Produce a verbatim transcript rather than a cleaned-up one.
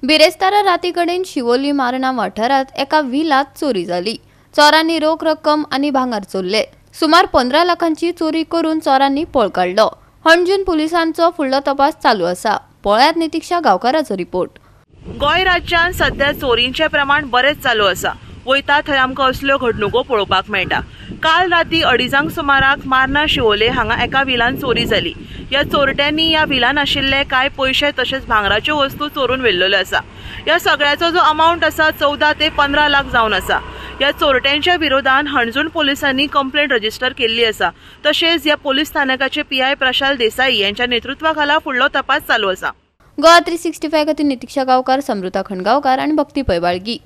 बिरेस्तारा राती कडेन शिवोली मार्ना वाठारांत एका विलांत चोरी जाली. चोरांनी रोख रक्कम आनी भांगर चोरले. सुमार पंदरा लाखांची चोरी करून चोरांनी पळ काडलो. हणजूण पुलिसांचो फुडलो तपास चालू आसा. पळयात नितिक्षा गांवकाराचो रिपोर्ट. गोंय राज्यांत सध्या चोरींचें प्रमाण बरेंच चालू आसा. वयता थंय आमकां असल्यो घडणुको पळोवपाक मेळटा. काल राती अडीजांक सुमाराक मार्ना शिवोले हांगा एका विलान चोरी जाली. ह्या चोरट्यांनी ह्या विलान आशिल्ले कांय पयशे तशेंच भांगराच्यो वस्तू चोरून व्हेल्ल्यो आसा. ह्या सगळ्याचो जो अमावंट आसा चवदा ते पंदरा लाख जावन आसा. ह्या चोरट्यांच्या विरोधान हणजूण पोलिसांनी कंप्लेंट रजिस्टर केल्ली आसा. तशेंच ह्या पोलीस स्थानकाचे पी I Prashal Desai यांच्या नेतृत्वाखाला फुडलो तपास चालू आसा. गोवा थ्री सिक्स्टी फाय खातीर नितिक्षा गांवकार, समृता खंडगांवकार आनी भक्ती पैबाळगी.